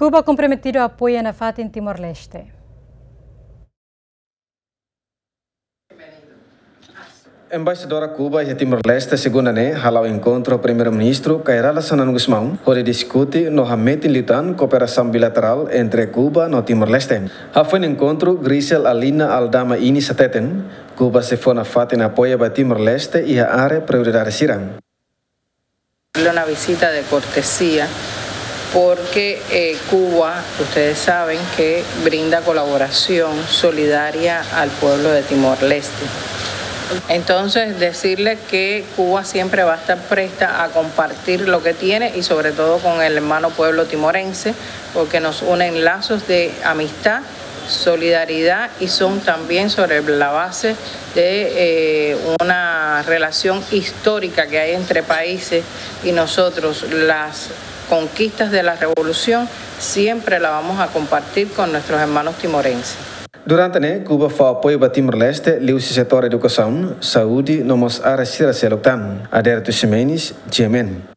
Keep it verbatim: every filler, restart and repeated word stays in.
Kuba komprometidu apoia nafatin Timor-Leste. Embaixadora Kuba iha Timor-Leste, segunda ne'e, hala'o enkontru Primeiru-Ministru Kay Rala Xanana Gusmão, hodi diskute no hametin liután kooperasaun bilaterál entre Kuba no Timor-Leste. Hafoin enkontru, Grisel Alina Aldama Inis hateten, Kuba sei fó nafatin apoia ba Timor-Leste iha área prioridade sira. Una visita de cortesía, porque eh, Cuba, ustedes saben que brinda colaboración solidaria al pueblo de Timor-Leste. Entonces, decirle que Cuba siempre va a estar presta a compartir lo que tiene y sobre todo con el hermano pueblo timorense, porque nos unen lazos de amistad, solidaridad y son también sobre la base de eh, una relación histórica que hay entre países y nosotros, las conquistas de la revolución, siempre la vamos a compartir con nuestros hermanos timorenses. Durante ne'e, Kuba fó apoiu ba Timor-Leste liuhusi setór edukasaun, saúde no mós área sira seluk tan. Adérito Ximenes, G M N.